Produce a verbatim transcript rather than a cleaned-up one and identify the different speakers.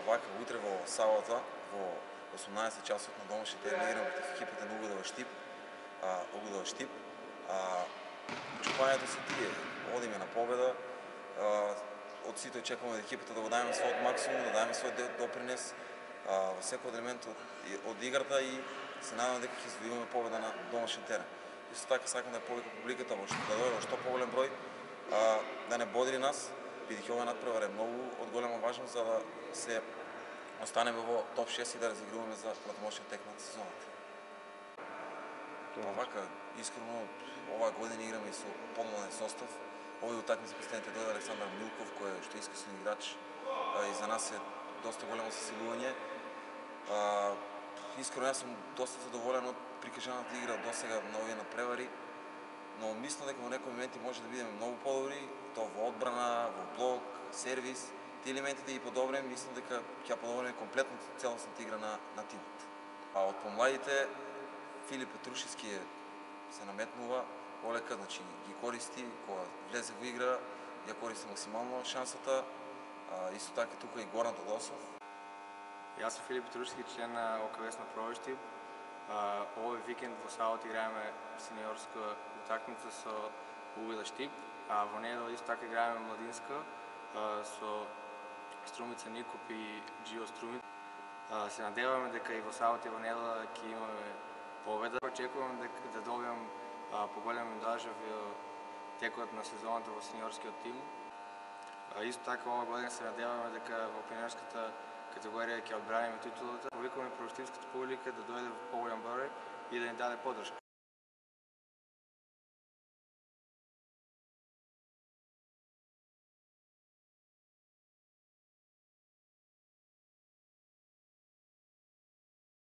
Speaker 1: вака утре во сабота во осумнаесет часот на домашни терен играме против екипата на Угодова Штип. А, Угодова Штип. А, очекувањето се тие. Одиме на победа. А, од сите очекуваме екипата да го даде својот максимум, да даде својот допринес а, во секој елемент од, од играта и се надевам дека ќе извојуваме победа на домашен терен. Исто така сакам да повика публиката во што да дојде во што поголем број, а, да не бодри нас, бидејќи оваа надпревара е многу од голема важност за да се останеме во топ шест и да разигруваме за платомошен текма на сезоната. Па вака, искрено, оваа година играме со помладен состав. Овој утакмица последните дојде Александар Милков, кој е што искусен играч и за нас е доста големо засилување. Искрено, јас сум доста задоволен од прикажаната игра до сега на овие надпревари, но мислам дека во некои моменти може да бидеме многу подобри, тоа во одбрана, во блок, сервис, тие елементи да ги подобриме, мислам дека ќе подобриме комплетно целосната игра на, на тимот. А од помладите, Филип Петрушевски е, се наметнува, олека, значи ги користи, кога влезе во игра, ја користи максимално шансата, а, исто така тука и Горан Тодосов.
Speaker 2: Јас сум Филип Петрушевски, член на ОКВС на Провоштип. Овој викенд во сабота играеме сениорска утакмица со Угодова Штип, а во недела исто така играеме младинска со Струмица Никоп и Джио Струмица. Се надеваме дека и во сабота и во недела ќе имаме победа. Очекувам дека да добијам поголема минутажа во текот на сезоната во сениорскиот тим. Исто така оваа година се надеваме дека во пионерската категорија ќе одбраниме титулата. Повикуваме провоштипската публика да дојде во поголем број и да ни даде поддршка.